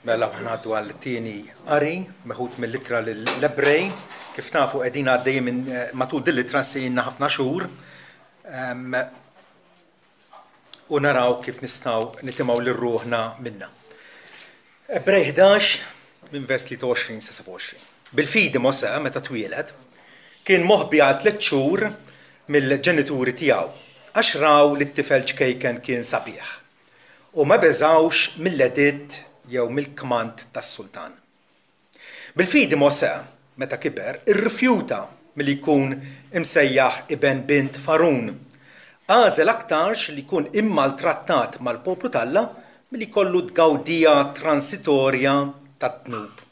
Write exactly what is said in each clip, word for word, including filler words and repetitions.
Mela ħa ngħaddu għal tieni qari meħud mill-ittra lill-Ebrej. Kif tafu, qegħdin għaddejjin minn eh, matul din l-ittra sejna ħafna xhur um, u naraw kif nistgħu nitimgħu lil ruħna minna. Ebrej ħdax minn vers tlieta u għoxrin sa sebgħa u għoxrin. Bil-fidi Mosè, meta twieled, kien moħbi għal tliet xhur mill-ġenituri tiegħu għax raw li t-tifel ċkejken kien sabiħ. U ma beżawx mill-editt jew mill-kmand tas-sultan. Bil-fidi Mosè, meta kiber, irrifjuta milli jkun imsejjaħ iben bint Fargħun. Għażel aktarx li jkun immaltrattat mal-poplu t'Alla milli jkollu tgawdija transitorja tad-dnub.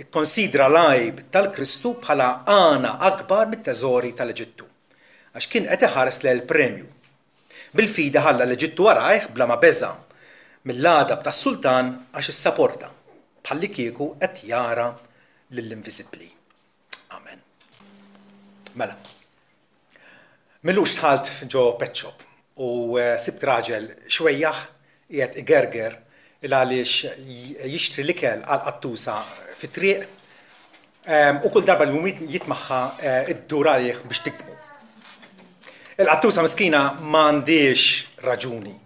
Ikkonsidra l-għajb tal-Kristu bħala għana akbar mit-teżori tal-Eġittu, għax kien qed iħares lejn il-premju. Bil-fidi ħalla l-Eġittu warajh bla ma beża mill-għadab tas-sultan, għax issaporta bħallikieku qed jara lill-inviżibbli. Amen. Mela. M'ilux dħalt ġo pet shop u eh, sibt raġel xwejjaħ qiegħed igerger il għaliex jixtri l-ikel għal qattusa fit-triq u kull darba li jitmagħha eh, iddur għalih biex tigdmu. Il-qattusa miskina m'għandhiex raġuni.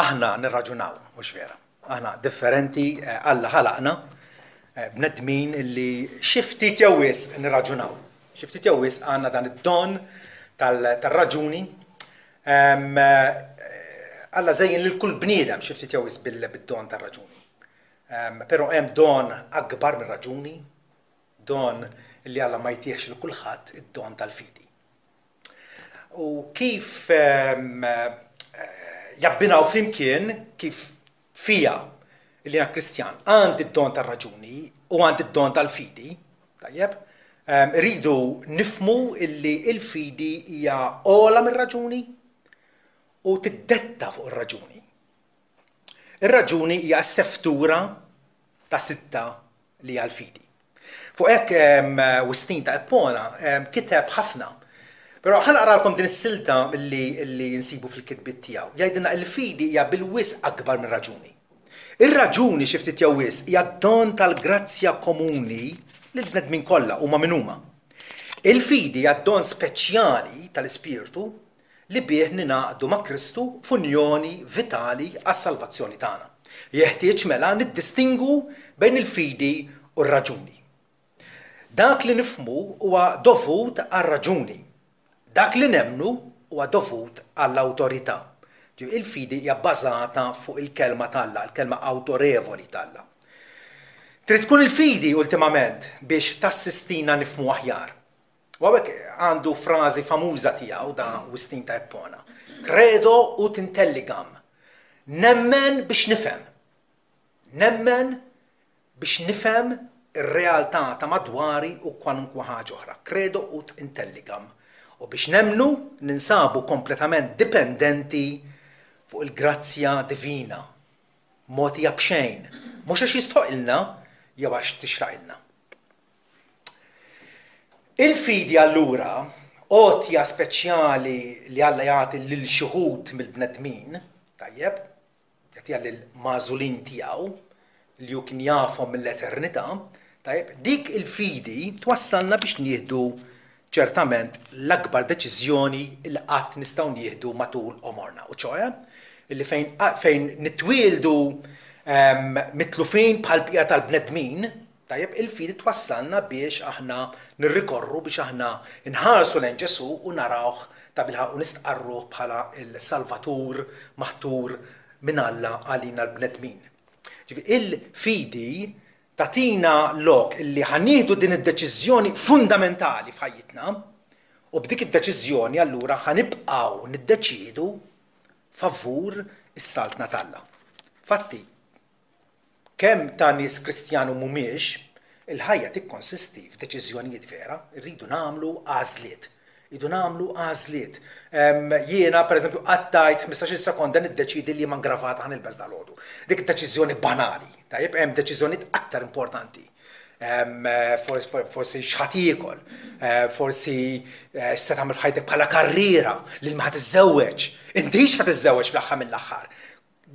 Aħna nirraġunaw, mhux vera? Aħna differenti, eh, Alla ħalaqna eh, bnedmin illi xi ftit jew wisq nirraġunaw. Xi ftit jew wisq għandna dan id-don tal-raġuni. Alla żejjen lil kull bniedem xi ftit jew wisq bil-don tar-raġuni. Però hemm don akbar mir-raġuni, don li Alla ma jtihx lil kulħadd, id-don tal-fidi. U kif jabbinaw flimkien, kif fija li jiena Kristjan għandi d-don tar-raġuni u għandi d-don tal-fidi, tajjeb, rridu nifhmu illi il-fidi hija ogħla mir-raġuni u tiddetta fuq ir-raġuni. Ir-raġuni hija s-seftura ta' sitta li hija l-fidi. Fuq hekk Wistin ta' Ippona kiteb ħafna. Però ħa naqralkom din is-silta li, li nsibu fil-kitbiet tiegħu. Jgħidilna il-fidi hija bil-wisq akbar mir-raġuni. Ir-raġuni xi ftit jew wisq hija don tal-grazzja komuni lill-bnedmin kollha, huma min huma. Il-fidi hija don speċjali tal-Ispirtu li bih ningħaqdu ma' Kristu f'unjoni vitali għas-salvazzjoni tagħna. Jeħtieġ mela niddistingu bejn il-fidi u r-raġuni. Dak li nifhmu huwa dovut għar-raġuni. Dak li nemmnu huwa dovut għall-awtorità. Il-fidi hija bbażata fuq il-kelma t'Alla, il-kelma awtorevoli t'Alla. Trid tkun il-fidi ultimament biex tassistina nifhmu aħjar. U hawnhekk għandu frażi famuża tiegħu da Wistin ta' Ippona. "Credo ut intelligam." Nemmen biex nifhem. Nemmen biex nifhem ir-realtà ta' madwari u kwalunkwe ħaġa oħra. "Credo ut intelligam." U biex nemmnu ninsabu kompletament dipendenti fuq il-grazzja divina. Mogħtija b'xejn. Mhux għax jistħoqilna jew għax tixraqilna. Il-fidi allura, għotja speċjali li Alla jagħti lil xi wħud mill-bnedmin, tajjeb, jagħtiha lil magħżulin tiegħu li hu kien jafhom mill-eternità, tajjeb, dik il-fidi twassalna biex nieħdu ċertament l-akbar deċiżjoni li qatt nistgħu nieħdu matul għomorna. U ċoè, illi fejn, fejn nitwieldu um, mitlufin bħal bqija tal-bnedmin, tajjeb, il-fidi twassalna biex aħna nirrikorru, biex aħna nħarsu lejn Ġesu u narawh ta' bilħaqq u nistqarruh bħala il-Salvatur maħtur minn Alla għalina l-bnedmin. Ġifieri il-fidi tagħtina lok illi ħa nieħdu din id-deċiżjoni fundamentali f'ħajjitna u b'dik id-deċiżjoni allura ħa nibqgħu niddeċidu favur is-saltna t'Alla. Fatti, kemm ta' nies Kristjani mhumiex, il-ħajja tikkonsisti f'deċiżjonijiet, vera, irridu nagħmlu għażliet. Irridu nagħmlu għażliet. Jiena, per eżempju, qattajt ħmistax-il sekonda niddeċidi li ma gravata ħa nilbes dalgħodu. Dik deċiżjoni banali, tajjeb, hemm deċiżjonijiet aktar importanti. Forsi x'ħa tiekol, forsi eh, x'se tagħmel f'ħajtek bħala karriera, lil min ħa tiżżewweġ, intix ħa tiżżewweġ fl-aħħar mill-aħħar.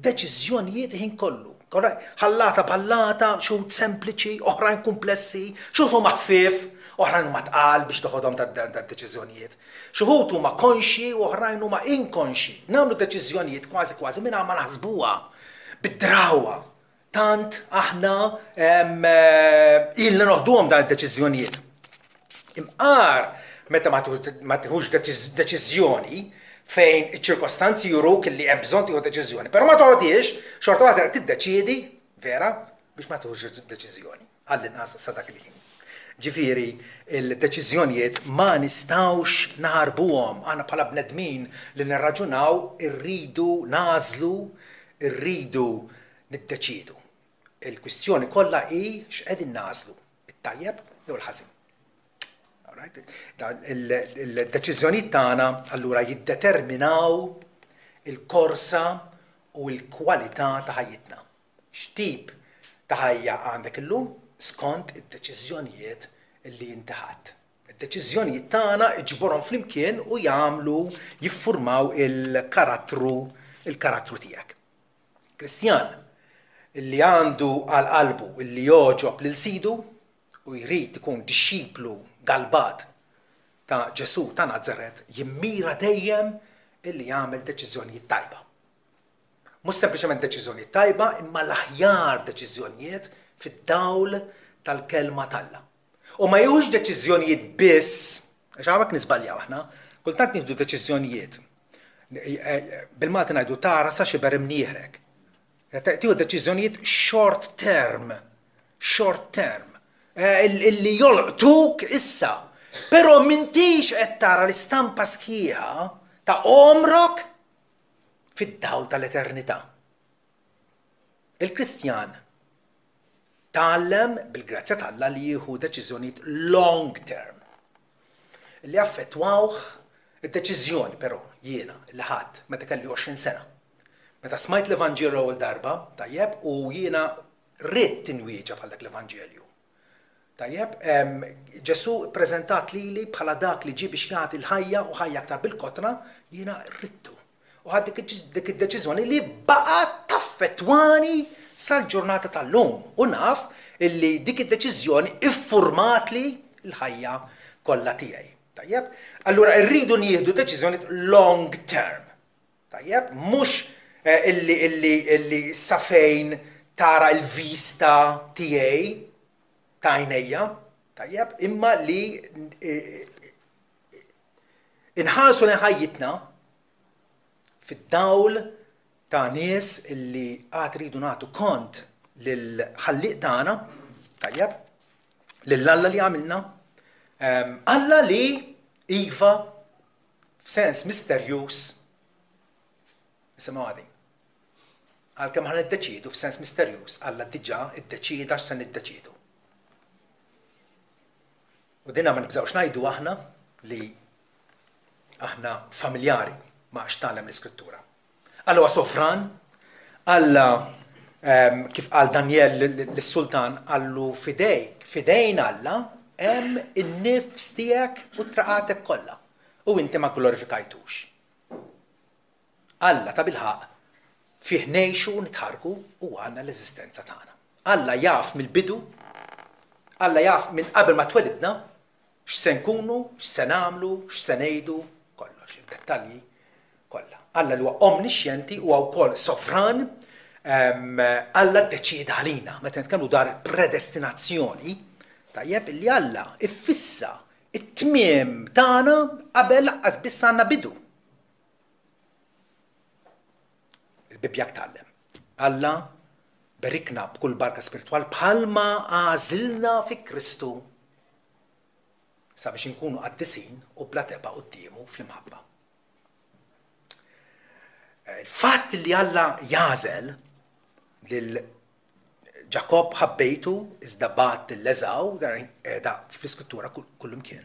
Deċiżjonijiet ħin kollu. Ħallata ballata, xi wħud sempliċi, oħrajn kumplessi, xi wħud huma ħfief, oħrajn huma tqal biex toħodhom tad-deċiżjonijiet. Xi wħud huma konxji u oħrajn huma inkonxji. Nagħmlu deċiżjonijiet kważi kważi mingħajr ma naħsbuha, bid-drawwa. Tant aħna ilna noħduhom dan id-deċiżjonijiet. Imqar meta ma tieħux deċiżjoni fejn iċ-ċirkostanzi juruk li hemm bżonn tieħu deċiżjoni, però ma toħodhiex, xorta waħda tiddeċiedi, vera, biex ma tieħux deċiżjoni, għall-inqas sa dak il-ħin. Ġifieri, il-deċiżjonijiet ma nistgħux naħarbuhom. Aħna bħala bnedmin li nirraġunaw irridu nagħżlu, irridu niddeċiedu. Il-kwistjoni kollha hi x'qegħdin nagħżlu, it-tajjeb jew il-ħażin. Il-deċiżjonijiet tagħna allura jiddeterminaw il-korsa u l-kwalità ta' ħajjitna. X'tip ta' ħajja għandek illum skont id-deċiżjonijiet li inti ħadt. Id-deċiżjonijiet tagħna iġborhom flimkien u jagħmlu jiffurmaw il-karattru il-karattru tiegħek. Kristjan li għandu għal qalbu illi jogħġob lil Sidu u jrid ikun dixxiplu galbat ta' Ġesù ta' Nazaret jimmira dejjem illi jagħmel deċiżjonijiet tajba. Mhux sempliċement deċiżjonijiet tajba, imma l-aħjar deċiżjonijiet fid-dawl tal-kelma t'Alla. U ma jieħux deċiżjonijiet biss, għax hawnhekk niżbaljaw aħna, kultant nieħdu deċiżjonijiet. Bil-Malti ngħidu tara sa xiber imnieħrek. Tieħu deċiżjonijiet short term, short term, illi jolqtuk issa. Però m'intix qed tara l-istampa sħiħa ta' għomrok fid-dawl tal-eternità. Il-Kristjan tgħallem bil-grazzja t'Alla li jieħu deċiżjonijiet long term li affettwawh. Id-deċiżjoni però jiena li ħadt meta kelli għoxrin sena. Meta smajt l-Evanġelju l-ewwel darba, tajjeb, u jiena ridt inwieġeb bħal dak l-Evanġelju. Tajjeb, Ġesù ppreżentat lili bħala dak li ġie biex jagħti l-ħajja u ħajja aktar bil-kotra, jiena ridtu. U ħadt dik id-deċiżjoni li baqgħet taffettwani sal-ġurnata tal-lum. U naf illi dik id-deċiżjoni iffurmatli l-ħajja kollha tiegħi. Tajjeb? Allura rridu nieħdu deċiżjoni long term. Tajjeb? Mhux illi illi illi sa fejn tara l-vista tiegħi ta' għajnejja, tajjeb, imma li inħarsu lejn ħajjitna fid-dawl ta' nies illi għad ridu nagħtu kont lill-ħallieq tagħna, tajjeb, lil Alla li għamilna, Alla li iva f'sens misterjuż, nisimgħu għadin. Għalkemm ħa niddeċiedu f'sens misterjuż, Alla diġà iddeċieda x'se niddeċiedu. U dinna ma nibżgħux ngħidu aħna li aħna familjari ma' x'tgħallem l-Iskrittura. Alla huwa sovran, Alla kif qal Danjel lis-sultan qallu fidejk, fidejn Alla hemm in-nifs tiegħek u traqatek kollha u inti ma glorifikajtux. Alla tabilħaqq fih ngħixu u nitħarrku u għandna l-eżistenza tagħna. Alla jaf mill-bidu, Alla jaf minn qabel ma twelidna x'se nkunu, x'se nagħmlu, x'se ngħidu, kollox, id-dettalji kollha. Alla li huwa omnixxjenti huwa wkoll sovran, Alla ddeċieda għalina. Meta nitkellmu dwar predestinazzjoni, tajjeb illi Alla iffissa it-tmiem tagħna qabel laqqas biss għandna bidu. Il-Bibbja tgħallem. Alla berikna b'kull barka spiritwal bħalma għażilna fi Kristu sabiex inkunu qaddisin u bla tebgħa quddiemu fl-imħabba. Il-fatt li Alla jagħżel lil Ġakobb ħabbejtu iżda bagħat lil Eżaw, dan qiegħda fl-Iskrittura kullimkien.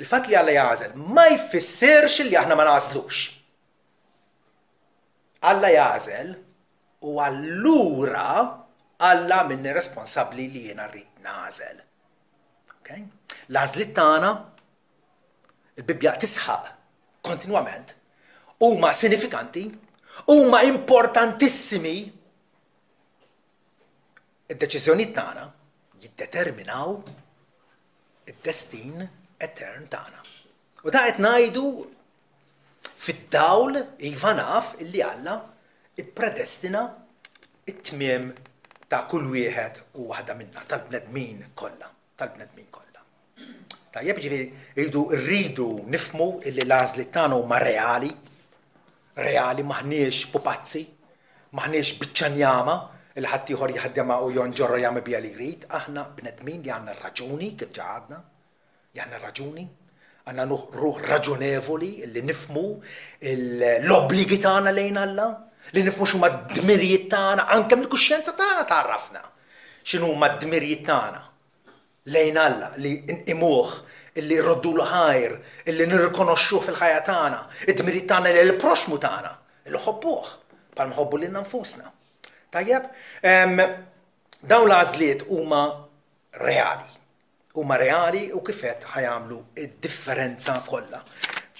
Il-fatt li Alla jagħżel ma jfissirx li aħna ma nagħżlux. Alla jagħżel u allura Alla minni responsabbli li jiena rrid nagħżel. Okay? L-għażliet tagħna, il-Bibbja tisħaq kontinwament, huma sinifikanti, huma importantissimi. Id-deċiżjonijiet tagħna jiddeterminaw id-destin etern tagħna. U da qed ngħidu fid-dawl, iva naf illi Alla ippredestina it-tmiem ta' kull wieħed u waħda minna, tal-bnedmin kollha, tal-bnedmin kollha. Tajjeb, ġifieri rridu rridu nifhmu illi l-għażliet tagħna huma reali, reali, maħniex pupazzi, maħniex biċċa njama li ħaddieħor jaħdemha u jonġorra jagħmel biha li jrid, aħna bnedmin li għandna raġuni, kif ġa għadna, li għandna raġuni, għandna ruħ raġunevoli li nifhmu l-obbligi tagħna lejn Alla, li nifhmu x'huma d-dmirijiet tagħna, anke mill-kuxjenza tagħna tgħarrafna x'inhuma d-dmirijiet tagħna lejn Alla, li nqimuh, illi rroddulu ħajr, illi nirrikonoxxuh fil-ħajja tagħna, id-dmirijiet tagħna lejn il-proxmu tagħna, illi nħobbuh bħal nħobbu lilna nfusna. Tajjeb, dawn l-għażliet huma reali. Huma reali u kif għedt ħa jagħmlu id-differenza kollha.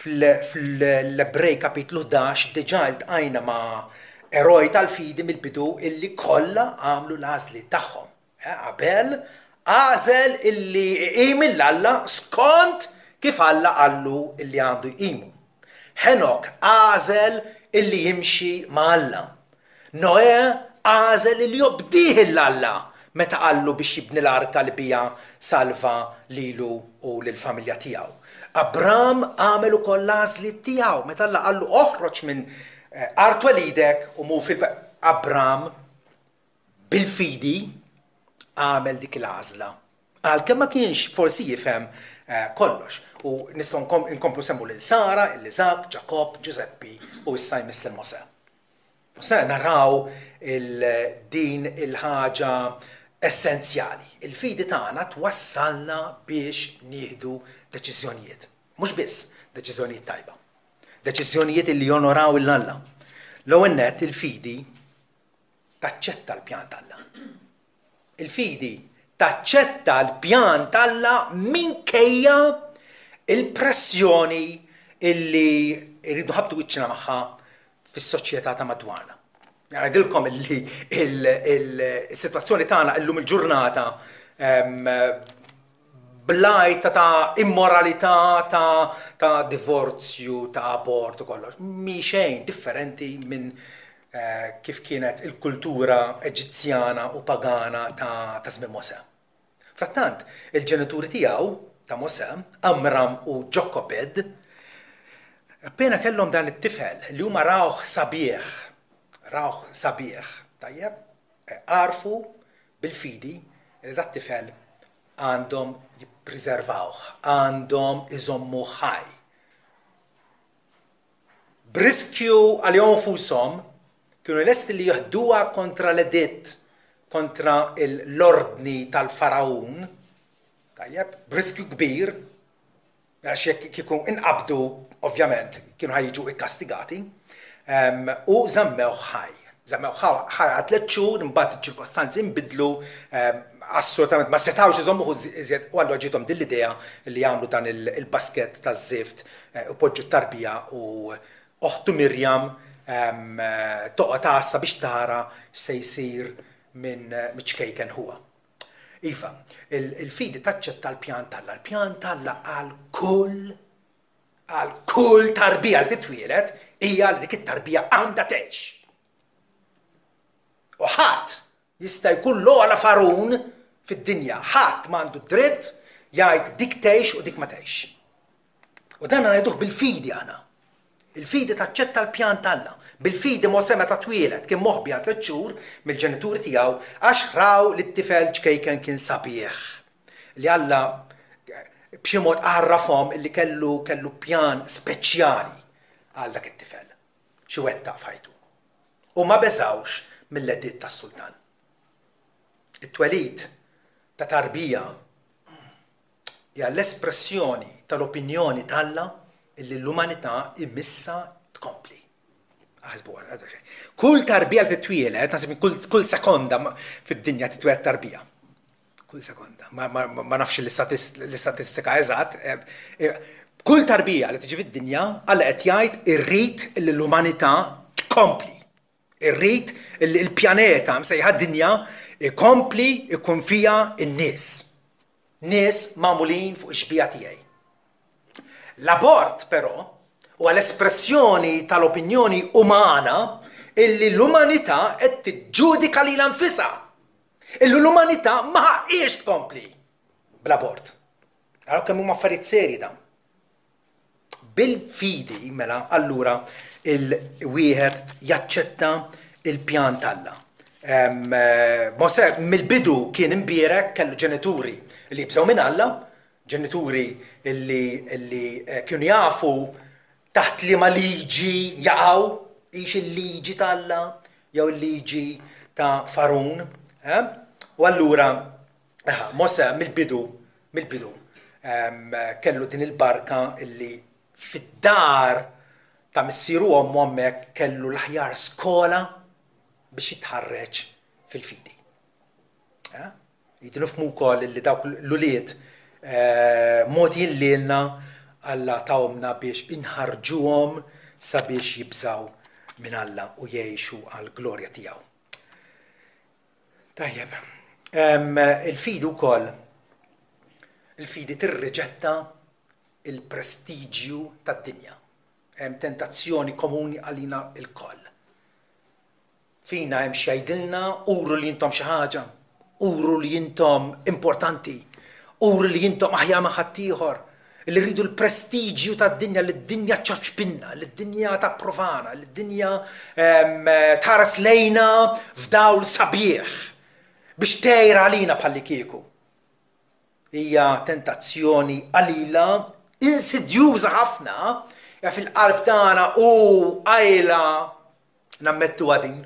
Fl-Ebrej kapitlu ħdax diġà iltqajna ma' eroj tal-fidi mill-bidu illi kollha għamlu l-għażliet tagħhom. Abel għażel illi iqim 'l Alla skont kif Alla qallu illi għandu jqimu. Henok għażel illi jimxi ma' Alla. Noè għażel illi jobdih 'l Alla meta qallu biex jibni l-arka li biha salva lilu u lill-familja tiegħu. Abram għamel ukoll l-għażliet tiegħu meta Alla qallu oħroġ minn art twelidek u mur fil Abram bil-fidi għamel dik l-għażla. Għalkemm ma kienx forsi jifhem kollox. U nistgħu nkomplu semmu lil Sara, lil Iżak, Ġakobb, Ġużeppi u issa jmiss lil Mosè. Mosè naraw din il-ħaġa essenzjali. Il-fidi tagħna twassalna biex nieħdu deċiżjonijiet. Mhux biss deċiżjonijiet tajba. Deċiżjonijiet li jonoraw 'l Alla. L-ewwel nett il-fidi taċċetta l-pjan t'Alla. Il-fidi taċċetta l-pjan t'Alla minkejja il-pressjoni illi rridu nħabbtu wiċċna magħha fis-soċjetà ta' madwarna. Ngħidilkom illi il-sitwazzjoni tagħna illum il-ġurnata blajta ta' immoralità, ta', ta' divorzju, ta' abort u kollox, mi xejn differenti minn eh, kif kienet il-kultura Eġizzjana u pagana ta' ta' żmien Mosè. Frattant, il-ġenituri tiegħu ta' Mosè, Amram u Ġokobed, appena kellhom dan it-tifel li huma rawh sabiħ, rawh sabiħ, tajjeb, għarfu bil-fidi li dat tifel għandhom jippreservawh, għandhom iżommu ħaj. B'riskju għalihom infushom kienu lesti li jeħduha kontra l-editt, kontra l-ordni tal-Faraun, tajjeb, b'riskju kbir, għax jekk kieku inqabdu, ovvjament, kienu ħa jiġu ikkastigati, u żammew ħaj. Żammew ħaj għal tliet xhur, imbagħad iċ-ċirkostanzi nbidlu, assolutament ma setgħux iżommuh iżjed, u allura ġiethom din l-idea li jagħmlu dan il-basket taż-żift u poġġu t-tarbija u oħtu Mirjam toqgħod għassa biex tara x'se jsir minn ċkejken ħuha. Iva, il-fidi taċċetta l-pjan t'Alla. L-pjan t'Alla għal kull għal kull tarbija li titwieled hija li dik it-tarbija għandha tgħix. U ħadd jista' jkun l-ogħla farun fid-dinja, ħadd m'għandu dritt jgħid dik tgħix u dik ma tgħix. U dan ngħiduh bil-fidi aħna. Il-fidi taċċetta l-pjan t'Alla. Bil-fidi Mosè meta twieled kien moħbi għal tliet xhur mill-ġenituri tiegħu għax raw li t-tifel ċkejken kien sabiħ. Li Alla b'xi mod għarrafhom illi kellu kellu pjan speċjali għal dak it-tifel xi wettaq f'ħajtu. U ma beżgħux mill-editt tas-sultan. It-twelid ta' tarbija hija l-espressjoni tal-opinjoni t'Alla illi l-umanità imissha tkompli. Aħsbu għal xejn. Kull tarbija li titwieled, naħseb kull, kull sekonda fid-dinja titwieled tarbija. Kull sekonda. Ma, ma, ma nafx l-istatistika eżatt. Kull tarbija li tiġi fid-dinja, Alla qed jgħid irrid li l-umanità tkompli. Irrid li l-pjaneta msejħa dinja ikompli ikun fija n-nies. Nies magħmulin fuq ix-xbieha tiegħi. L-abort, però, huwa l-espressjoni tal-opinjoni umana illi l-umanità qed tiġġudika lilha nfisha. Illi l-umanità ma ħaqqiex tkompli bl-abort. Araw kemm huma affarijiet serji dawn. Bil-fidi, mela, allura il-wieħed jaċċetta il-pjan t'Alla. Mosè mill-bidu kien imbierek, kellu ġenituri li jibżgħu minn Alla, ġenituri li, li eh, kienu jafu taħt liema liġi jaqgħu, hix il-liġi t'Alla jew il-liġi ta' Farun. Eh? U allura Mosè mill-bidu, mill-bidu kellu din il-barka illi fid-dar ta' missieru u ommu hemmhekk kellu l-aħjar skola biex jitħarreġ fil-fidi. Eh? Jridu nifhmu wkoll li dawk l-ulied eh, mogħtijin lilna Alla tahomlna biex inħarġuhom sabiex jibżaw minn Alla u jgħixu għal glorja tiegħu. Tajjeb, il-fidi wkoll, il-fidi tirriġetta il-prestiġju tad-dinja. Hemm tentazzjoni komuni għalina lkoll. Fina hemm x'jgħidilna uru li intom xi ħaġa, uru li intom importanti, uru li intom aħjar ma' ħaddieħor, li rridu l-prestiġju tad-dinja, li d-dinja ċċapċpilna, li d-dinja tapprovana, li d-dinja tħares lejna f'dawl sabiħ biex tgħir għalina bħallikieku. Hija tentazzjoni qalila, insidjuża ħafna, ja fil-qalb tagħna u qajla nammettu għadin.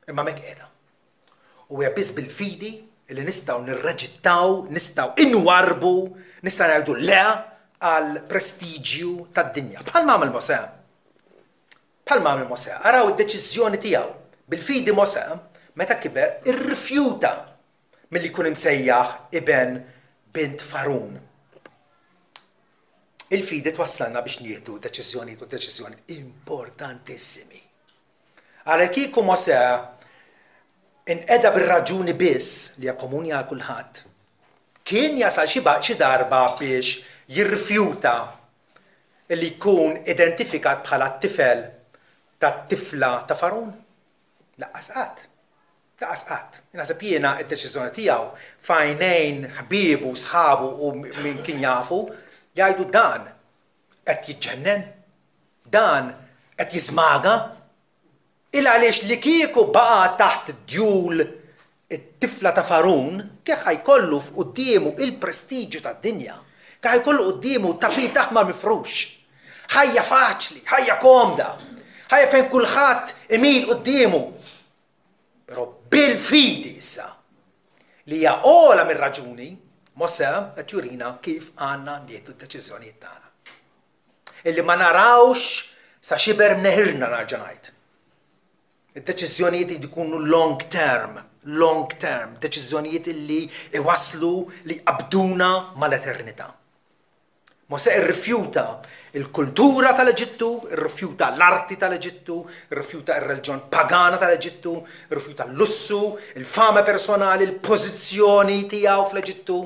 Imma mek qiegħda. U hija biss bil-fidi li nistgħu nirreġittaw, nistgħu inwarbu, nistgħu ngħidu le għal prestiġju tad-dinja. Bħal għamel Mosè. Bħal għamel Mosè. Araw id-deċiżjoni tiegħu. Bil-fidi Mosè, meta kiber, irrifjuta milli jkun imsejjaħ iben bint Farun. Il-fidi twassalna biex nieħdu deċiżjonijiet u deċiżjonijiet importantissimi. Għal kieku Mosè inqeda bir-raġuni biss li hija komuni għal kulħadd, kien jasal xi darba biex jirrifjuta li jkun identifikat bħala t-tifel tat-tifla ta' Farun? Lanqas qatt. Lanqas qatt. Naħseb jiena id-deċiżjoni tiegħu f'għajnejn ħbiebu, sħabu u min kien jafu, jgħidu dan qed jiġġennen, dan qed jiżmaga. Il għaliex li kieku baqa' taħt djul it-tifla ta' Farun, kif ħa jkollu quddiemu il-prestiġju tad-dinja, kif ħa jkollu quddiemu tapit aħmar mifrux. Ħajja faċli, ħajja komda, ħajja fejn kulħadd imil quddiemu. Però bil-fidi issa li hija ogħla mir-raġuni, Mosè qed jurina kif għandna nieħdu d-deċiżjonijiet tagħna. Illi ma narawx sa xiber mneħirna narġa' ngħid. Id-deċiżjonijiet jkunu long term, long term, deċiżjonijiet illi iwaslu li jqabduna mal-eternità. Mosè irrifjuta il-kultura tal-Eġittu, irrifjuta l-arti tal-Eġittu, irrifjuta il-reliġjon pagana tal-Eġittu, irrifjuta l-lussu, il-fama personali, il-pożizzjoni tiegħu fl-Eġittu,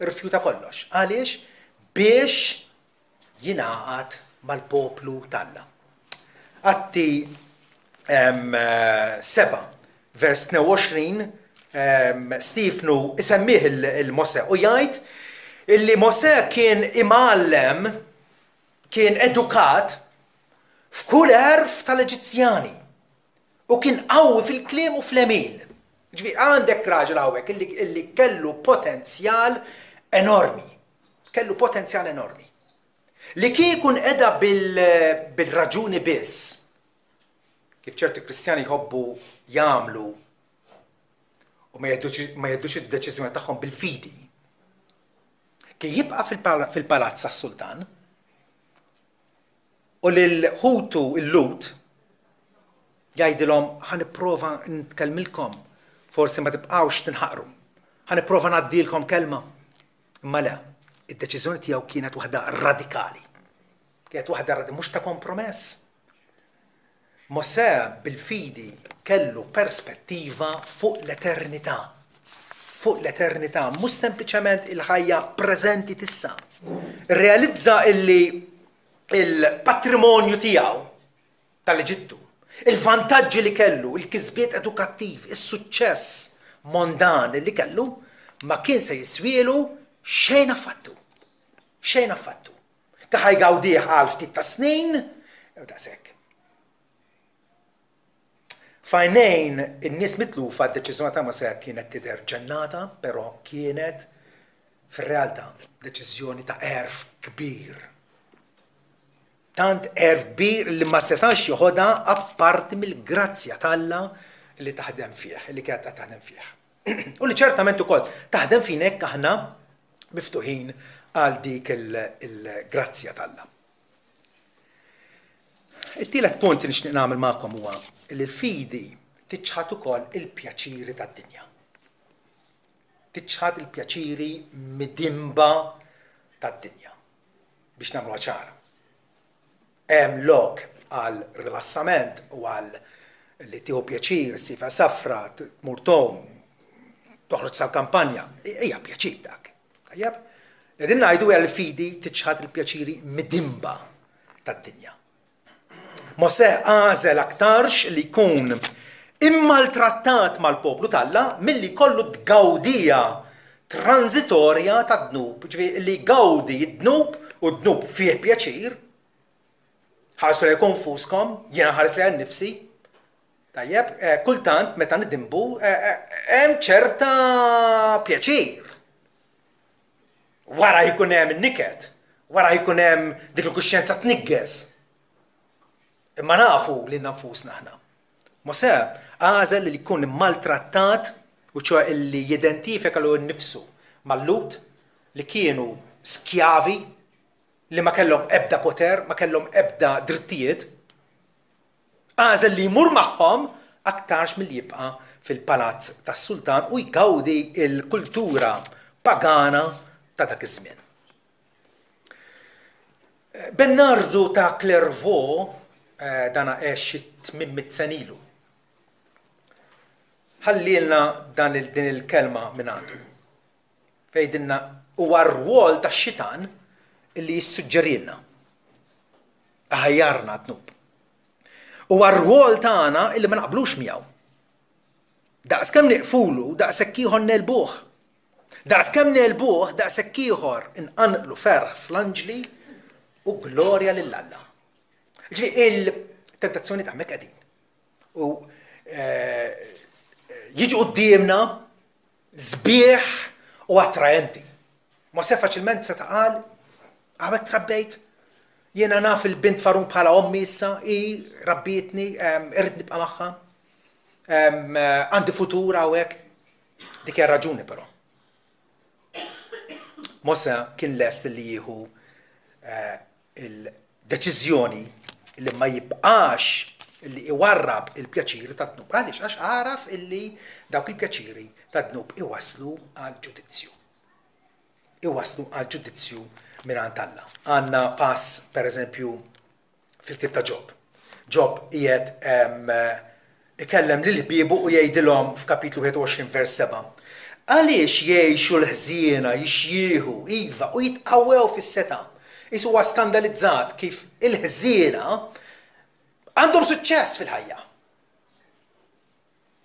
irrifjuta kollox. Għaliex? Biex jingħaqad mal-poplu t'Alla. Atti seba, vers tnejn u għoxrin, Stiefnu isemmih il-Mosè u jgħid illi Mosè kien imgħallem, kien edukat f'kull għerf tal-Eġizzjani u kien qawwi fil-kliem u fl-għemil. Ġifieri għandek raġel hawnhekk illi, illi kellu potenzjal enormi. Kellu potenzjal enormi. Li kieku nqeda bil-raġuni biss, kif ċerti Kristjani jħobbu jagħmlu u ma jeħdux id-deċiżjoni tagħhom bil-fidi, kien jibqa' fil-palazz tas-sultan u lil ħutu l-Lut jgħidilhom ħa nipprova nitkellmilkom, forsi ma tibqgħux tinħaqru, ħa nipprova ngħaddilkom kelma. Imma le, id-deċiżjoni tiegħu kienet waħda radikali. Kienet waħda radikali, mhux ta' kompromess. Mosè bil-fidi kellu perspettiva fuq l-eternità. Fuq l-eternità, mhux sempliċement il-ħajja preżenti t'issa. Realizza illi il-patrimonju tiegħu tal-Eġittu, il-vantaġġi li kellu, il-kisbiet edukattiv, is-suċċess mondan li kellu, ma kien se jiswielu xejn affattu. Xejn affattu. Kien ħa jgawdih għal ftit ta' snin, daqshekk. F'għajnejn in-nies mitlufa d-deċiżjoni ta' Mosè kienet tidher ġennata, però kienet fir-realtà deċiżjoni ta' għerf kbir. Tant għerf kbir li ma setax joħodha apparti mill-grazzja t'Alla li taħdem fih, li kienet taħdem fih. U li ċertament ukoll taħdem fina jekk aħna miftuħin għal dik il-grazzja t'Alla. It-tielet punt li nixtieq nagħmel magħkom huwa li l-fidi tiċħad ukoll il-pjaċiri tad-dinja. Tiċħad il-pjaċiri midinba tad-dinja. Biex nagħmluha ċara. Hemm lok għal rilassament u għal li tieħu pjaċir, ssiefer safra, tmur tgħum, toħroġ sal-kampanja, hija pjaċir dak. Tajjeb? Qegħdin ngħidu hija l-fidi tiċħad il-pjaċiri midinba tad-dinja. Mosè għażel aktarx li jkun immaltrattat mal-poplu t'Alla milli jkollu tgawdija transitorja ta' dnub, ġifieri li jgawdi d-dnub u d-dnub fih pjaċir. Ħarsu lejn konfuskom, jiena ħares lejn nifsi. Tajjeb, eh, kultant meta nidinbu eh, eh, hemm ċerta pjaċir. Wara jkun hemm niket, wara jkun hemm dik il-kuxjenza tniggeż. Imma nafu li nfusna aħna. Mosè għażel li jkun maltrattat u ċoè li jidentifika lilu nnifsu mal-Lhud li kienu skjavi li ma kellhom ebda poter, ma kellhom ebda drittijiet. Għażel li jmur magħhom aktarx milli jibqa' fil-palazz tas-sultan u jgawdi il-kultura pagana ta' dak iż-żmien. Bernardu ta' Clairvaux, eh, dana għex xi tmien mitt sena ilu. Ħallilna dan il din il-kelma minn għandu. Fejdilna huwa r-rwol tax-xitan illi jissuġġerilna. Aħjarna dnub. Huwa r-rwol tagħna illi ma naqblux miegħu. Daqs kemm niqfulu, daqshekk ieħor negħlbuh. Daqs kemm negħlbuh, daqshekk ieħor inqanqlu ferħ fl-anġli u glorja lil Alla. Ġifieri il-tentazzjoni ta' hemmhekk qegħdin. U eh, jiġu quddiemna sbieħ u attraenti. Mosè faċilment seta' qal, hawnhekk trabbejt, jiena naf il-bint Fargħun bħala ommi issa, hi rabbietni, irrid nibqa' magħha. Għandi futur hawnhekk. Dik hija raġuni però. Mosè kien lest li jieħu eh, il-deċiżjoni li ma jibqax li iwarrab il-pjaċiri ta' dnub. Għaliex? Għax għaraf illi dawk il-pjaċiri ta' dnub iwaslu għal ġudizzju. Iwaslu għal ġudizzju minn Alla. Għandna pass, per eżempju, fil-ktieb ta' Ġob. Ġob qiegħed ikellem lil ħbiebu u jgħidilhom f'kapitlu wieħed u għoxrin vers sebgħa. Għaliex jgħixu l-ħżiena, jixjieħu, iva, u jitqawwew fis-setgħa? Qisu huwa skandalizzat kif il-ħżiena għandhom suċċess fil-ħajja.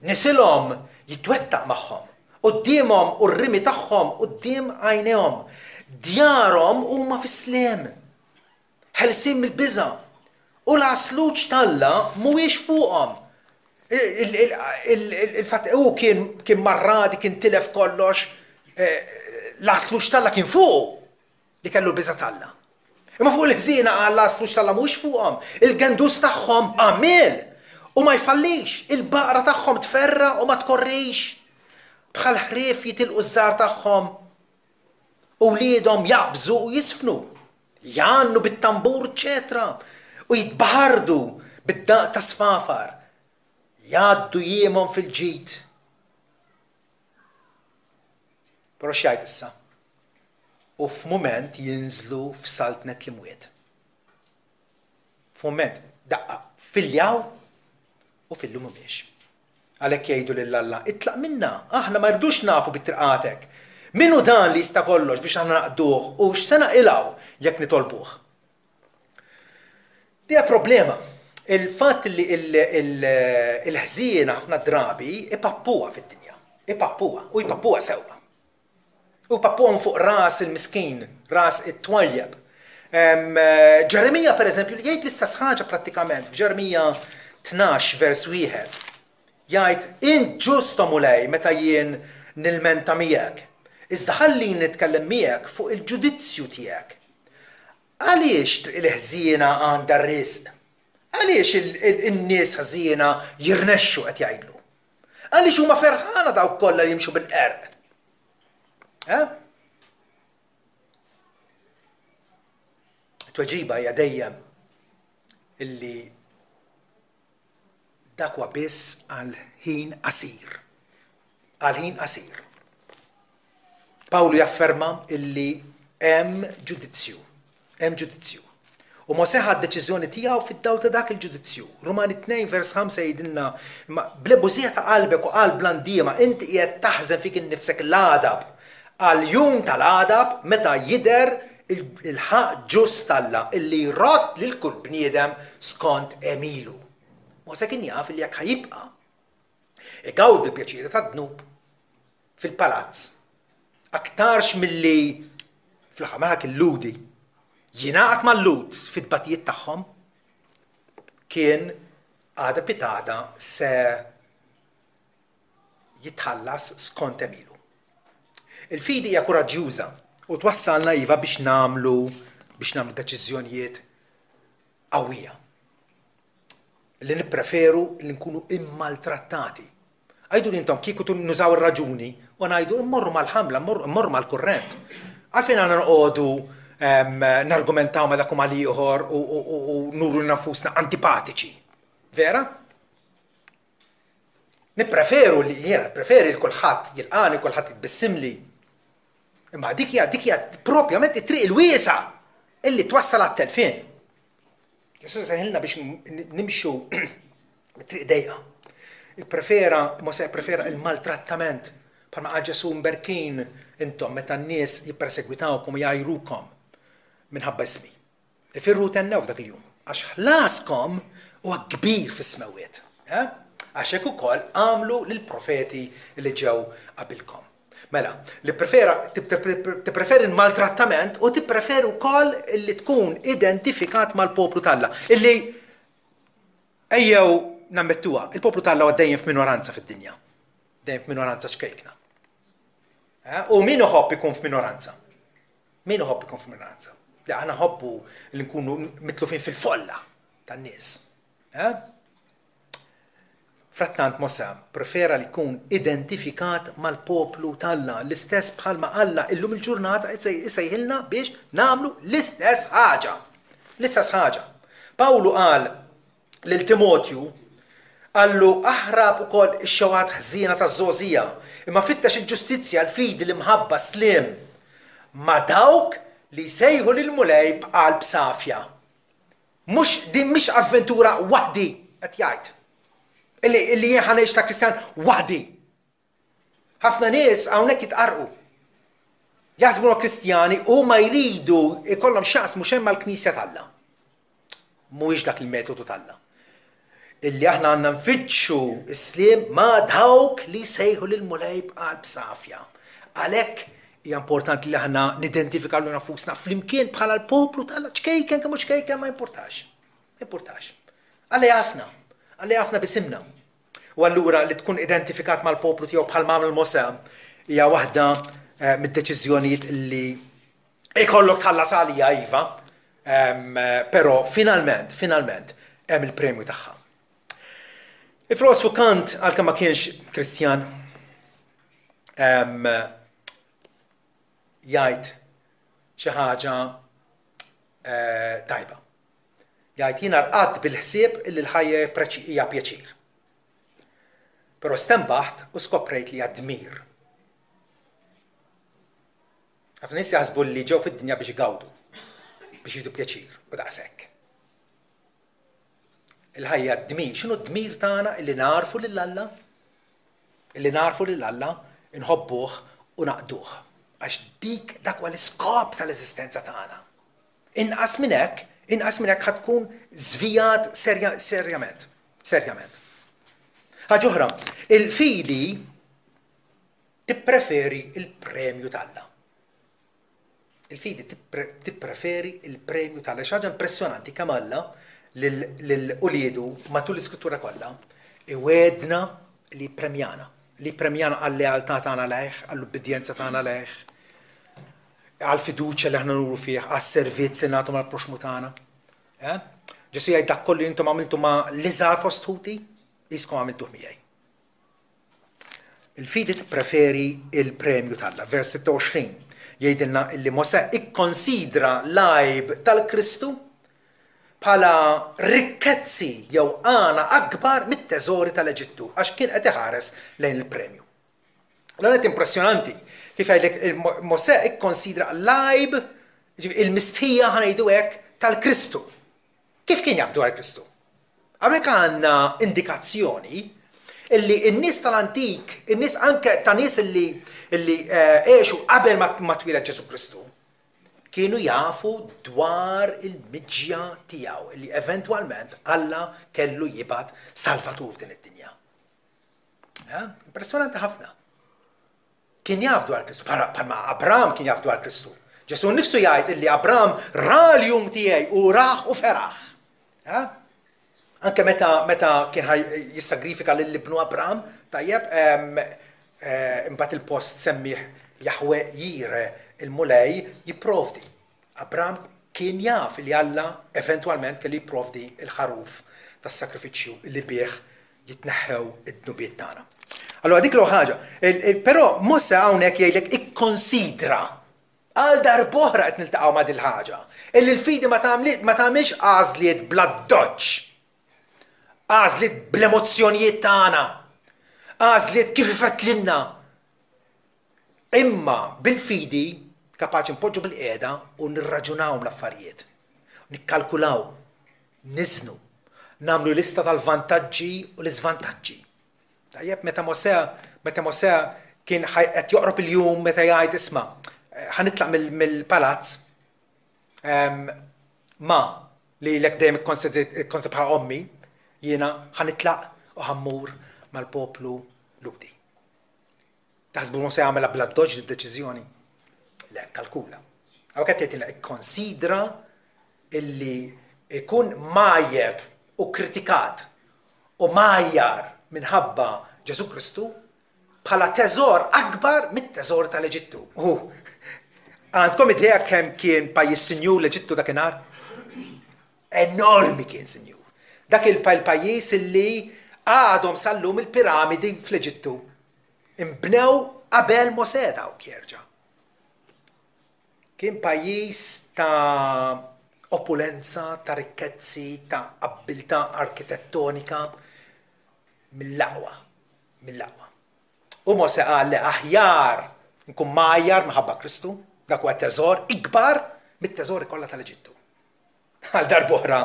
Nisilhom jitwettaq magħhom, quddiemhom u r-rimi tagħhom quddiem għajnejhom. Djarhom huma fis-sliem, ħelsin mill-biża', u l-għasluġ t'Alla mhuwiex fuqhom. Il-fatt hu kien kien marradi, kien tilef kollox, l-għasluġ t'Alla kien fuqu li kellu l-biża' t'Alla. Imma fuq il-ħżiena qal l-għasluġ t'Alla mhuwiex fuqhom, il-gendus tagħhom għammiel u ma jfallix, il-baqra tagħhom tferra' u ma tkorrix. Bħal ħrief jitilqu ż-żgħar tagħhom, u wliedhom jaqbżu u jiżfnu, jgħannu bit-tambur eċċetera u jitbaħardu bid-daqq ta' sfafar, jgħaddu jiemhom fil-ġid. Però x'jgħid issa? U f'mument jinżlu f'saltnet l-imwiet. F'mument, daqqa, filjaw u fil-lum mhumiex. Għalhekk jgħidu lil Alla, itlaq minna, aħna ma rridux nafu bit-triqatek. Min hu dan li jista' kollox biex aħna naqduh u x'se naqilgħu jekk nitolbuh? Dija problema. Il-fatt li il-ħżiena ħafna drabi ipappuha fid-dinja. Ipappuha u jpappuha sewwa. U jpappuha fuq ras il-miskin, ras it-twajjeb. Ġeremija per eżempju li jgħid l-istess ħaġa prattikament f'Ġeremija tnax vers wieħed. Jgħid, int ġust o Mulej meta jien nilmenta miegħek. Iżda ħalli nitkellem miegħek fuq il-ġudizzju tiegħek. Għaliex triq il-ħżiena għandha r-risq? Għaliex in-nies ħżiena jirnexxu qed jgħidlu? Għaliex huma ferħana dawk kollha li jimxu bil-qerq? Eh? Tweġiba hija dejjem illi dak huwa biss għal ħin qasir. Għal ħin qasir. Pawlu jafferma illi hemm ġudizzju. Hemm ġudizzju. U Mosè ħa d-deċiżjoni tiegħu fid-dawl ta' dak il-ġudizzju. Rumani tnejn vers ħamsa jgħidilna, imma bl-ebużija ta' qalbek u qalb bl-andiema inti qiegħed taħżen fik innifsek l-għadab għal jum tal-għadab meta jidher il-ħaqq ġust t'Alla illi jrodd lil kull bniedem skont għemilu. Mosè kien jaf illi jekk ħajibqa' igawdi l-pjaċiri tad-dnub fil-palazz aktarx milli fl-aħħar mill-aħħar kien Lhudi jingħaqad mal-Lhud fit-tbatijiet tagħhom, kien għada pitgħada se jitħallas skont għemilu. Il-fidi hija kuraġġjuża u twassalna iva biex nagħmlu biex nagħmlu deċiżjonijiet qawwija. Li nippreferu li nkunu immaltrattati. Għidu li intom kieku nużaw ir-raġuni u ngħidu immorru mal-ħamla, immorru mal-kurrent. Għalfejn għandna noqogħdu nargumentaw ma dak u mal-ieħor u nuru nafusna antipatiċi. Vera? Nippreferu li jiena nippreferi li kulħadd jilqani, kulħadd jitbissimli. Imma dik hija dik hija propjament it-triq il-wiesa illi twassal għat-telfien. Ġesù seħilna biex nimxu triq dejqa. Ipprefera, Mosè prefera il-maltrattament bħalma qal Ġesù mberkin intom meta n-nies jippersegwitawkom u jgħajrukom minħabba ismi. Ifirru tennew f'dak il-jum għax ħlaskom huwa kbir fis-smewwiet. Eh? Għax hekk ukoll għamlu lill-profeti li ġew qabilkom. Mela, li prefera, tippreferi l-maltrattament u tippreferi wkoll li tkun identifikat mal-poplu t'Alla. Illi ejjew nammettuha, il-poplu t'Alla huwa dejjem f'minoranza fid-dinja. Dejjem f'minoranza ċkejkna. Eh? U min iħobb ikun f'minoranza? Min iħobb ikun f'minoranza? Li aħna ħobbu li nkunu mitlufin fil-folla tan-nies. Eh? Frattant Mosè prefera li jkun identifikat mal-poplu t'Alla, l-istess bħalma Alla illum il-ġurnata isejħilna biex nagħmlu l-istess ħaġa. L-istess ħaġa. Pawlu qal lil Timotju, qallu aħrab ukoll ix-xewqat ħżiena taż-żgħożija, imma fittex il-ġustizzja, l-fidi, l-imħabba, s-sliem ma' dawk li jsejħu lill-Mulej b'qalb safja. Mhux din mhix avventura waħdi qed jgħid. Illi, illi jien ħa ngħix ta' Kristjan waħdi. Ħafna nies hawnhekk jitqarrqu. Jaħsbu huma Kristjani u ma jridu ikollhom x'jaqsmu xejn mal-Knisja t'Alla. Mhuwiex dak il-metodu t'Alla. Illi aħna għandna nfittxu s-sliem ma' dawk li jsejħu lill-Mulej b'qalb safja. Għalhekk hija importanti li aħna nidentifikaw lilna nfusna flimkien bħala l-poplu t'Alla, ċkejken kemm hu ċkejken ma jimpurtax. Ma jimpurtax. Alla jafna. Alla jafna bisimna. U allura li tkun identifikat mal-poplu tiegħu bħal għamel Mosè hija waħda eh, mid-deċiżjonijiet li ikollok tħallas għalija iva, però finalment, finalment hemm il-premju tagħha. Il-filosfu Kant, għalkemm ma kienx Kristjan, jgħid xi ħaġa eh, tajba. Jgħid jiena rqadt bil-ħsieb illi l-ħajja hija pjaċir. Però stenbaħt u skoprejt li hija dmir. Ħafna nies jaħsbu li ġew fid-dinja biex igawdu, biex jieħdu pjaċir u daqshekk. Il-ħajja dmir. X'inhu d-dmir tagħna? Illi narfu lil Alla, illi narfu lil Alla, inħobbuh u naqduh. Għax dik dak huwa l-iskop tal-eżistenza tagħna. Inqas minn hekk, inqas minn hekk ħa tkun żvijat serja, serjament. Serjament. Ħaġa oħra, il-fidi tippreferi il-premju t'Alla. Il-fidi tippreferi il-premju t'Alla. Xi ħaġa impressjonanti kemm Alla lil uliedu matul l-Iskrittura kollha iwegħedna li premjana, li premjana għal-lealtà tagħna lejh, għall-ubbidjenza tagħna lejh, għall-fiduċja li aħna nuru fih, għas-servizz li nagħtu mal-proxmu tagħna. Eh? Ġesu jgħid, "Dak kollu intom għamiltu ma' l-iżgħar fost ħuti, qiskom għamiltuh miegħi." Il-fidi tippreferi il-premju t'Alla. Vers sitta u għoxrin jgħidilna illi Mosè ikkonsidra l-għajb tal-Kristu bħala rikkezzi jew għana akbar mit-teżori tal-Eġittu, għax kien qed iħares lejn il-premju. L-għanet impressjonanti kif jgħidlek Mosè ikkonsidra l-għajb, il-mistħija, ħa ngħidu hekk, tal-Kristu. Kif kien jaf dwar Kristu? Hawnhekk għandna indikazzjoni illi n-nies tal-antik, in-nies anke ta' nies illi illi eh, għexu qabel ma twieled Ġesu Kristu, kienu jafu dwar il-miġja tiegħu, illi eventwalment Alla kellu jibgħat salvatur f'din id-dinja. Eh? Impressjonanti ħafna. Kien jaf dwar Kristu, bħalma Abram kien jaf dwar Kristu. Ġesu nifsu jgħid illi Abram ra l-jum tiegħi u raħ u feraħ. Eh? Anke meta meta kien jissagrifika lil ibnu Abram, tajjeb, eh, imbagħad il-post semmih Jahwe Jire, il-Mulej jipprovdi. Abram kien jaf li Alla eventwalment kellu jipprovdi il-ħaruf tas-sakrifiċċju li bih jitneħħew id-dnubiet tagħna. Allora dik l ħaġa. Però Mosè hawnhekk jgħidlek ikkonsidra. Għal darb'oħra qed niltaqgħu ma' dil-ħaġa. Illi l-fidi ma tagħmilx għażliet bl-addoċċ. Għażliet bl-emozzjonijiet tagħna. Għażliet kif ifettlilna. Imma bil-fidi kapaċi npoġġu bil-qiegħda u nirraġunaw l-affarijiet. Nikkalkulaw, niżnu, nagħmlu lista tal-vantaġġi u l-iżvantaġġi. Tajjeb, meta Mosè, meta Mosè kien qed joqrob il-jum meta jgħid, "Isma', ħa nitlaq mill-palazz, ma li lek dejjem ikkonsidri bħala ommi, jiena ħa nitlaq u ħa mmur mal-poplu Lhudi." Taħsbu Mosè għamela bl-addoċċ d-deċiżjoni? Le, kalkula. Hawn qed jgħidilna ikkonsidra illi ikun mgħajjeb u kritikat u mgħajjar minħabba Ġesu Kristu bħala teżor akbar mit-teżor tal-Eġittu. U għandkom idea kemm kien pajjiż sinjur l-Eġittu dakinhar? Enormi kien sinjur. Dak il-pajjiż illi għadhom sal-lum il-piramidi fl-Eġittu. Imbnew qabel Mosè dawk jerġa'. Kien pajjiż ta' opulenza, ta' rikkezzi, ta' abbiltà arkitettonika mill-aqwa, mill-aqwa. U Mosè qal li aħjar nkun mgħajjar minħabba Kristu, dak huwa teżor ikbar mit-teżori kollha tal-Eġittu. Għal darb'oħra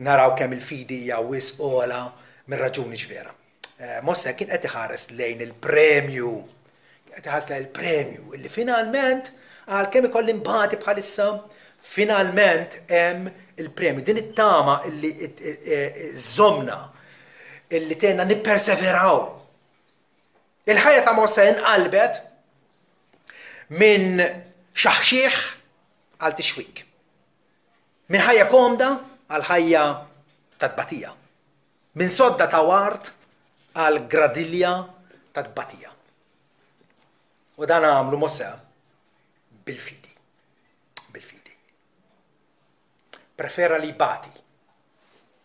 naraw kemm il-fidi hija wisq ogħla mir-raġuni vera. Eh, Mosè kien qed iħares lejn il-premju, qed iħares lejn il-premju illi finalment, għal kemm ikolli nbati bħalissa, finalment hemm il-premju. Din it-tama illi żżommna, illi tgħinna nipperseveraw. Il-ħajja ta' Mosè inqalbet minn xaħxieħ għal tixwik. Minn ħajja komda għal ħajja ta' tbatija. Minn sodda ta' ward għal gradilja ta' tbatija. U dan għamlu Mosè bil-fidi. Bil-fidi. Prefera li jbati.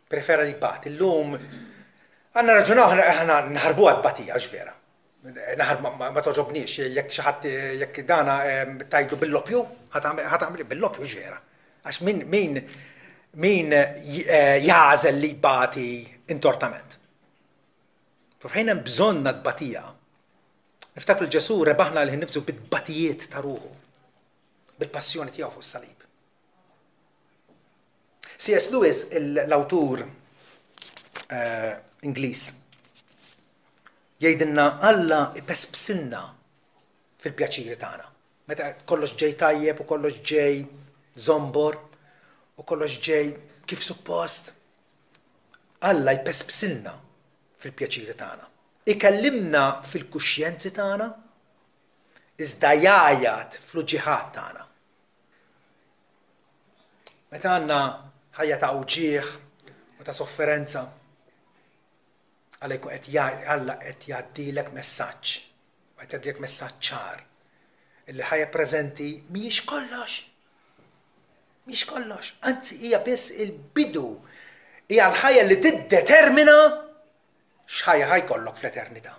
Prefera li jbati. Illum għandna raġunaw, aħna naħarbu għat-tbatija, vera. Naħar ma togħġobniex, jekk xi ħadd jekk dana tgħidlu bil-loppju, ħa tagħmel bil-loppju, vera. Għax min min min eh, jagħżel li jbati intortament? Fejn hemm bżonn tbatija. Niftakru Ġesu rebaħna lil nifsu bit-tbatijiet ta' ruħu, bil-passjoni tiegħu fuq is-salib. C S. Lewis, l-awtur eh, Ingliż. Jgħidilna Alla ipespsilna fil-pjaċiri tagħna. Meta kollox ġej tajjeb u kollox ġej zombor u kollox ġej kif suppost, Alla jpespsilna fil-pjaċiri tagħna. Ikellimna fil-kuxjenzi tagħna, iżda jgħajjat fl-uġigħat tagħna. Meta għandna ħajja ta' uġigħ u ta' sofferenza, Alla jkun qed Alla qed jgħaddilek messaġġ, qed jgħaddilek messaġġ ċar. Illi ħajja preżenti mhijiex kollox. Mhijiex kollox, anzi hija biss il-bidu, hija l-ħajja li tiddetermina x'ħajja ħa jkollok fl-eternità.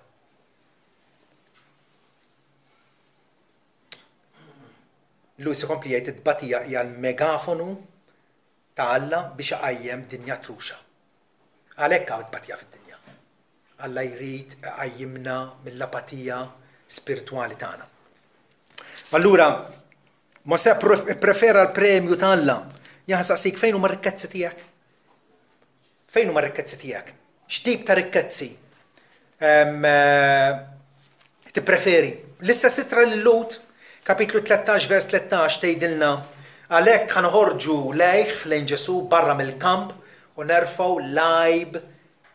Lewis ikompli jgħid it-tbatija hija l-megafonu ta' Alla biex iqajjem dinja truxa. Għalhekk hawn tbatija fid-dinja. Alla jrid iqajjimna mill-apatija spiritwali tagħna. Allura, Mosè pprefera l-premju ta' Alla. Jien nsaqsik fejn huma r-rikkezzi tiegħek? Fejn huma r-rikkezzi tiegħek? X'tip ta' rikkezzi tippreferi? L-istess ittra lil Lut, kapitlu tlettax vers tlettax tgħidilna għalhekk ħa noħorġu lejh lejn Ġesù barra mill-kamp u nerfgħu l-għajb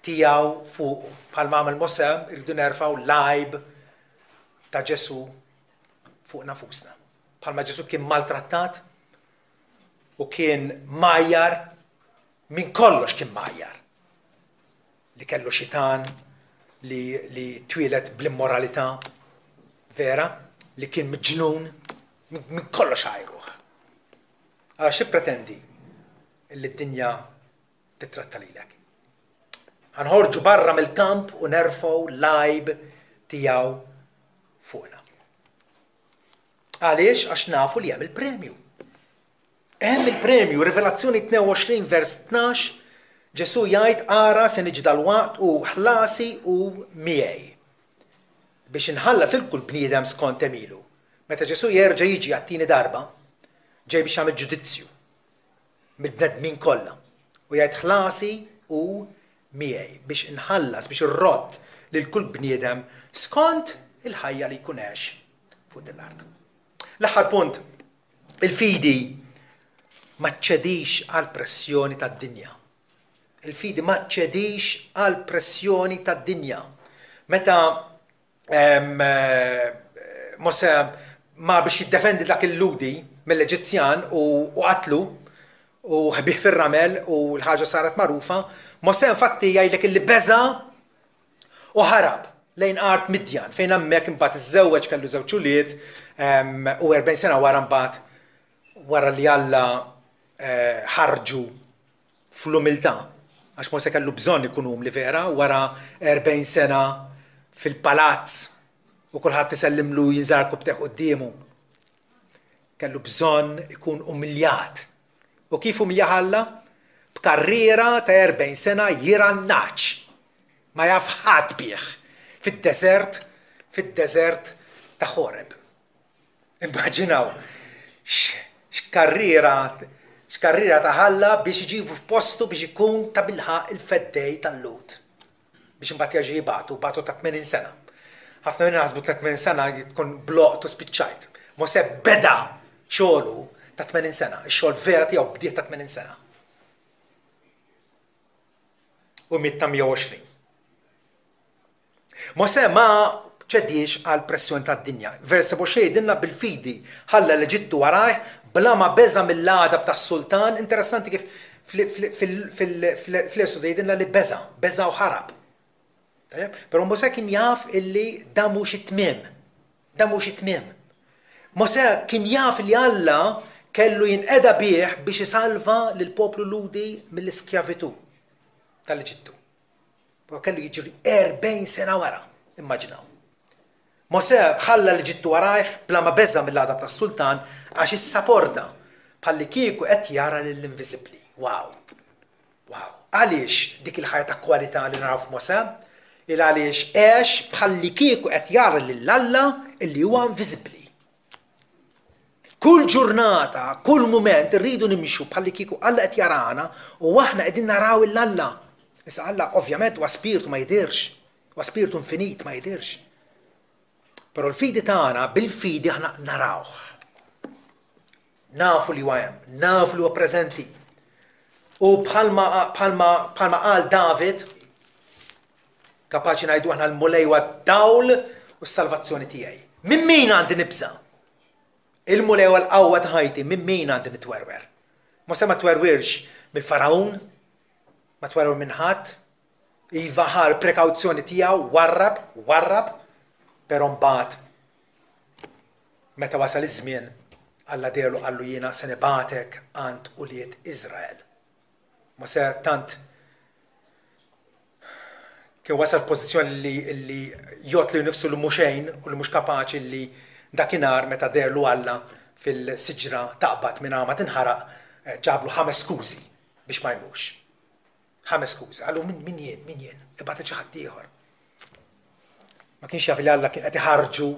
tiegħu fuqu. Bħalma għamel Mosè, irridu nerfgħu l-għajb ta' Ġesù fuq nafusna. Bħalma Ġesù kien maltrattat u kien majjar, minn kollox kien majjar. Li kellu xitan, li, li twieled bl-immoralità vera, li kien miġnun, minn kollox għajruh. Għala xi pretendi li d-dinja titratta lilek? Ħa nħorġu barra mill-kamp u nerfgħu l-għajb tiegħu fuqna. Għaliex? Għax nafu li hemm il-premju. Hemm il-premju, Rivelazzjoni tnejn u għoxrin vers tnax, Ġesù jgħid ara se niġi dalwaqt u ħlasi hu miegħi biex inħallas il kull bniedem skont għemilu. Meta Ġesù jerġa' jiġi għat-tieni darba, ġej biex jagħmel ġudizzju mill-bnedmin kollha u jgħid ħlasi hu miegħi biex inħallas, biex irrodd lil kull bniedem skont il-ħajja li jkun għex fuq din l-art. L-aħħar punt, il-fidi ma ċċedix għall-pressjoni tad-dinja. Il-fidi ma ċċedix għall-pressjoni tad-dinja. Meta Mosè mar biex jiddefendi dak il-Lhudi mill-Eġizzjan u qatlu u ħbih fir-ramel u l-ħaġa saret magħrufa, Mosè infatti jgħidlek illi beża' u ħarab lejn art Midjan fejn hemmhekk imbagħad iżżewweġ, kellu żewġ ulied u erbgħin sena wara mbagħad wara li Alla ħarġu fl-umiltà, għax Mosè kellu bżonn ikun umli vera wara erbgħin sena fil-palazz u kulħadd isellimlu jinżar kubteh quddiemu. Kellu bżonn ikun umiljat. U kif umiljah Alla? B'karriera ta' erbgħin sena jirgħa n-nagħaġ. Ma jaf ħadd bih fid-deżert, fid-deżert ta' Ħoreb. Immaġinaw x'karriera x'karriera ta' Alla biex iġibu f'postu biex ikun tabilħaqq il-feddej tal-Lhud. Biex imbagħad jerġa' jibagħtu, bagħtu ta' tmenin sena. Ħafna minna naħsbu ta' tmenin sena tkun bloqt u spiċċajt. Mosè beda xogħlu ta' tmenin sena, ix-xogħol vera tiegħu bdieh ta' tmenin sena. U miet ta' mija u għoxrin. Mosè ma ċediex għal pressjoni tad-dinja. Vers sebgħa u għoxrin jgħidilna bil-fidi ħalla l-Eġittu warajh bla ma beża' mill-għadab tas-sultan. Interessanti kif fl-Esodu jgħidilna li beża', beża' u ħarab. Tajjeb? Però Mosè kien jaf illi dan mhux it-tmiem. Dan mhux it-tmiem. Mosè kien jaf li Alla kellu jinqeda bih biex isalva lill-poplu Lhudi mill-iskjavitù tal-Eġittu. Però kellu jiġri erbgħin sena wara, immaġinaw. Mosè ħalla l-Eġittu warajh bla ma beża' mill-għadab tas-sultan għax issaporta bħallikieku qed jara lill-inviżibbli. Wow! Wow! Għaliex dik il-ħajja ta' kwalità li naraw f'Mosè? Il għaliex għex bħallikieku qed jara lil Alla illi huwa inviżibbli. Kull ġurnata, kull mument irridu nimxu bħallikieku Alla qed jarana u aħna qegħdin naraw 'il Alla. Issa Alla ovvjament huwa spirtu, ma jidhirx, huwa spirtu infinit, ma jidhirx. Però l-fidi tagħna, bil-fidi aħna narawh. Nafu li huwa hemm, nafu li huwa preżenti. U bħalma bħalma bħalma qal David, kapaċi ngħidu aħna, l-Mulej huwa dawl u s-salvazzjoni tiegħi. Minn min għandi nibża? Il-Mulej huwa l-qawwa ta' ħajti, minn min għandi nitwerwer? Mosè ma twerwirx mill-Faraun, ma twerwer minn ħadd, iva ħa l-prekawzjoni tiegħu, warrab, warrab, però mbagħad meta wasal iż-żmien, Alla dehrlu, qallu, "Jiena se nibagħtek għand ulied Iżrael." Mosè tant kien wasal f'pożizzjoni li, li jgħodd lilu nifsu li mhux xejn u li mhux kapaċi, li dakinhar meta dehrlu Alla fil-siġra taqbad minn ma tinħaraq, eh, ġablu ħames skużi biex ma jmurx. Ħames skużi. Qallu, min, min jien, min jien, ibgħat xi ħadd ieħor." Ma kienx jaf li Alla kien qed iħarġu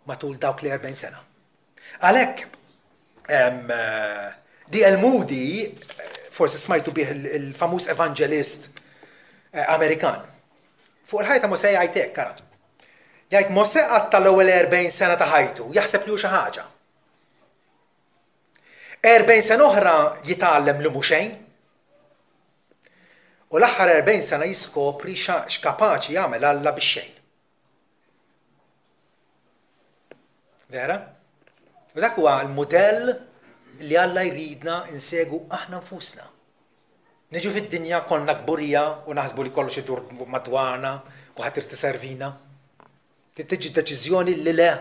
matul dawk li erbgħin sena. Għalhekk, eh, D L. Moody, eh, forsi smajtu bih, il-famuż evangelist Amerikan. Fuq il-ħajta Mosè jgħid hekk, ara. Jgħid, "Mosè qatta' l-ewwel erbgħin sena ta' ħajtu jaħseb li hu xi ħaġa. erbgħin sena oħra jitgħallem li mhu xejn. U l-aħħar erbgħin sena jiskopri x'kapaċi jagħmel Alla bix-xejn." Vera? U dak huwa l-mudell li Alla jridna insegu aħna nfusna. Niġu fid-dinja kollna kburija u naħsbu li kollox idur madwarna u ħadd irid iservina. Tiġi deċiżjoni li le,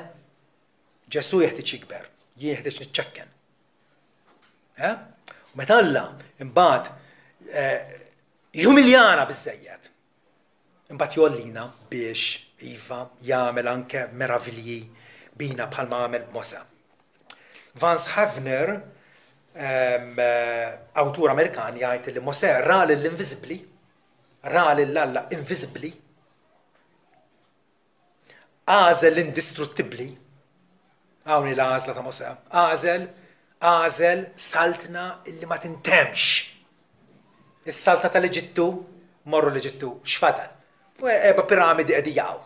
Ġesu jeħtieġ jikber, jien jeħtieġ niċċekken. Eh? U meta Alla imbagħad eh, jumiljana biżejjed, imbagħad jgħollina biex iva jagħmel anke meravilji bina bħalma għamel b'Mosè. Vance Havner, eh, awtur Amerikan, jgħid li Mosè ra lill-inviżibbli, ra lil Alla inviżibbli, għażel l-indistruttibbli, hawn l-għażla ta' Mosè, għażel għażel saltna illi ma tintemx. Is-saltna tal-Eġittu, morru l-Eġittu, x'fadal? U erba' piramidi qegħdin jaqgħu.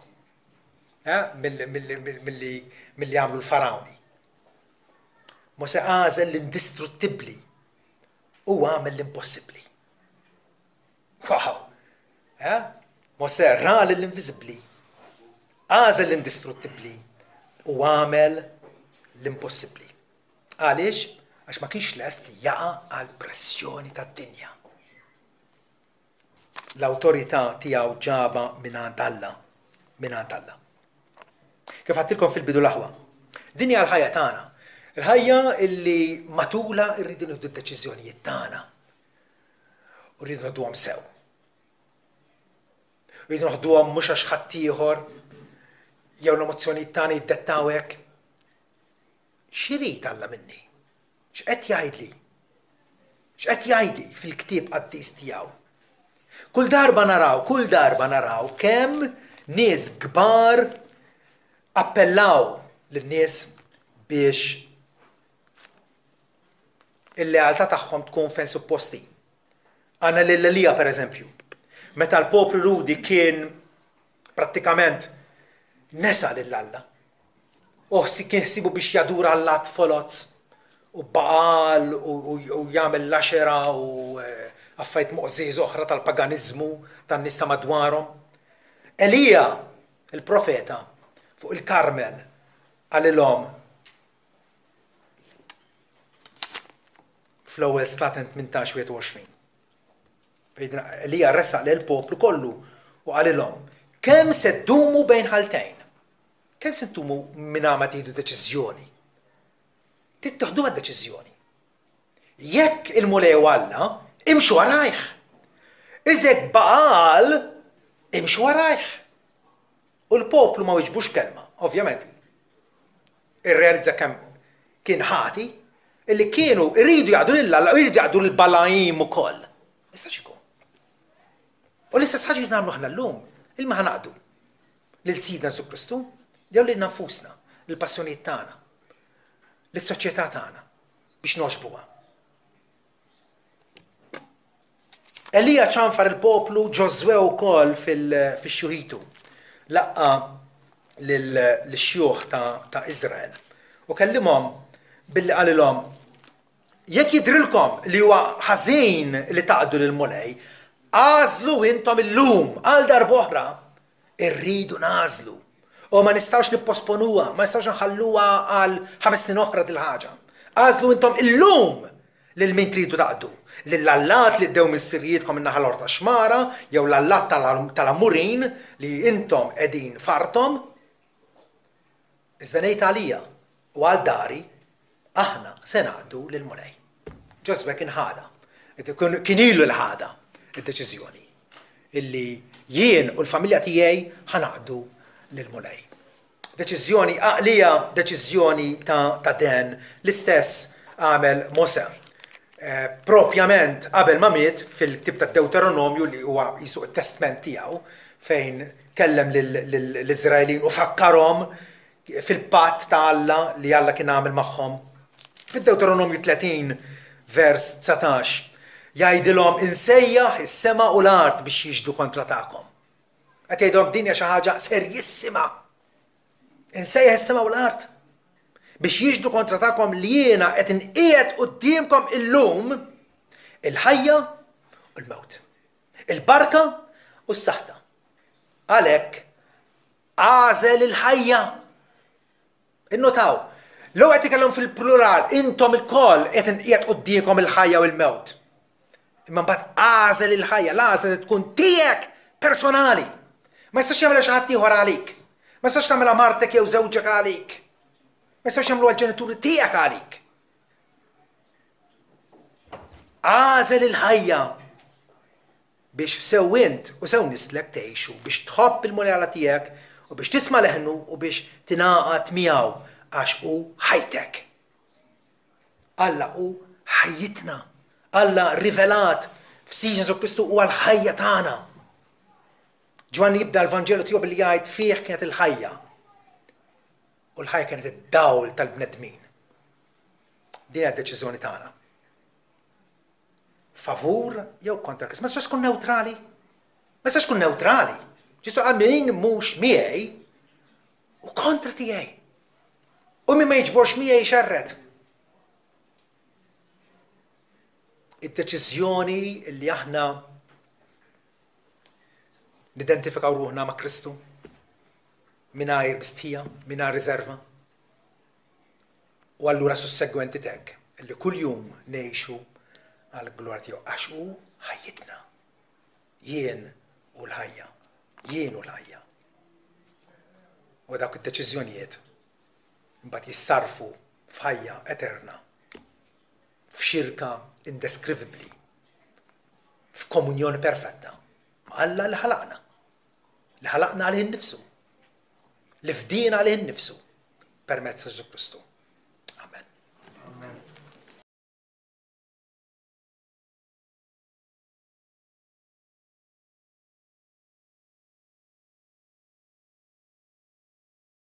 Eh, milli għamlu l-farawni. Mosè għażel l-indistruttibbli u għamel l-impossibbli. Wow! Eh? Mosè ra l-inviżibbli, għażel l-indistruttibbli u għamel l-impossibbli. Għaliex? Għax ma kienx lest li jaqa' għal pressjoni tad-dinja. L-awtorità tiegħu ġaba mingħand Alla, mingħand Alla. Kif għedtilkom fil-bidu, l-aħwa, din hija l-ħajja tagħna. Il-ħajja illi matula rridu nieħdu d-deċiżjonijiet tagħna. U rridu noħduhom sew. Rridu noħduhom mhux għax ħaddieħor jew l-emozzjonijiet tagħna jiddettaw hekk. X'irid Alla minni? X'qed jgħidli? X'qed jgħidli fil-ktieb qaddis tiegħu? Kull darba naraw, kull darba naraw kemm nies kbar appellaw lin-nies biex il-lealtà tagħhom tkun fejn supposti. Għandna lil Elija, per eżempju, meta l-poplu Lhudi kien prattikament nesa lil Alla. U kien ħsibu biex jadura allat foloz u Ba'al u jagħmel l-Axera u eh, affarijiet moqżież oħra tal-paganizmu tan-nies ta' madwarhom. Elija, il-profeta, fuq il-Karmel qalilhom fl-Ewwel Slaten tmintax wieħed u għoxrin. Elija resaq lil poplu kollu u qalilhom, "Kemm se ddumu bejn ħaltejn? Kemm se ddumu minn ma tieħdu deċiżjoni? Tieħdu deċiżjoni. Jekk il-Mulej Alla, imxu warajh. Iżek Ba'al, imxu warajh." U l-poplu ma wiġbux kelma, ovvjament. Irrealizza kemm kien ħati, illi kienu iridu jaqdu lil Alla u jridu jaqdu l-Balajim ukoll. Issa x'ikun? U l-istess ħaġa nagħmlu aħna llum, lil min ħa naqdu? Lil Sidna Ġesù Kristu, jew lil nfusna, lill-passjonijiet tagħna, lis-soċjetà tagħna biex nogħġbuha? Elija ċanfar il-poplu, Ġożwè wkoll fix-xjuħitu laqqa' lix-xjuħ ta' Iżrael u kellimhom billi qalilhom, Jekk jidhrilkom li huwa ħażin li taqdu lill-Mulej, agħżlu intom illum għal darb'oħra. Irridu nagħżlu. U ma nistgħux nipposponuha, ma nistgħux nħalluha għal ħames snin oħra dil-ħaġa. Agħżlu intom illum lil min tridu taqdu, lill-allat li ddew missirijietkom min-naħa l-oħra tax-xmara, jew l-allat tal-Amurin li intom qegħdin f'arthom. Iżda ngħid għalija u għal dari, aħna se naqdu lill-Mulej. Ġożwè kien ħadha, kien ilu li ħadha d-deċiżjoni illi jien u l-familja tiegħi ħa naqdu lill-Mulej. Deċiżjoni għaqlija, deċiżjoni ta', ta den. L-istess għamel Mosè. Eh, propjament qabel ma miet fil-ktib ta' Deuteronomju li huwa jisu t-testment tiegħu fejn kellem lill-Iżraelin u fakkarhom fil-patt ta' Alla li Alla kien għamel magħhom. Fid-Deuteronomju tletin vers dsatax jgħidilhom insejjaħ is-sema u l-art biex jixhdu kontra tagħkom. Qed jgħidilhom din hija xi ħaġa serjissima. Insejjaħ is-sema u l-art biex jixhdu kontra tagħkom li jiena qed inqiegħed quddiemkom illum il-ħajja u l-mewt, il-barka u s-saħta. Għalhekk għażel il-ħajja. Innotaw, l-ewwel qed ikellhom fil-plural, intom ilkoll qed inqiegħed quddiemkom il-ħajja u l-mewt. Imma mbagħad għażel il-ħajja, l-għażla tkun tiegħek personali. Ma jistax jagħmilha xi ħadd ieħor għalik. Ma jistax tagħmilha martek jew żewġek għalik. Ma jistax jagħmluha l-ġenituri tiegħek għalik. Għażel il-ħajja biex sew int u sew nislek tgħixu, biex tħobb il-Mulej Alla tiegħek u biex tisma' leħnu u biex tingħaqad miegħu għax hu ħajtek. Alla hu ħajjitna. Alla rivelat f'Sidna Ġesù Kristu huwa l-ħajja tagħna. Ġwanni jibda l-Vanġelu tiegħu billi jgħid fih kienet il-ħajja. U l-ħajja kienet id-dawl tal-bnedmin. Din hija d-deċiżjoni tagħna. Favur jew kontra Kristu. Ma tistax tkun neutrali. Ma tistax tkun neutrali. Ġesu qal min mhux miegħi u kontra tiegħi. U min ma jiġborx miegħi xerred. Id-deċiżjoni li aħna nidentifikaw ruħna ma' Kristu mingħajr mistħija, mingħajr riserva. U allura sussegwenti tek li kuljum ngħixu għall-glorja tiegħu għax hu ħajjitna. Jien u l-ħajja. Jien u l-ħajja. U dawk id-deċiżjonijiet imbagħad jissarfu f'ħajja eterna, f'xirka indeskrivibbli, f'komunjoni perfetta ma' Alla li ħalaqna, li ħalaqna għalih innifsu, li fdiena għalih innifsu permezz ta' Ġesù Kristu.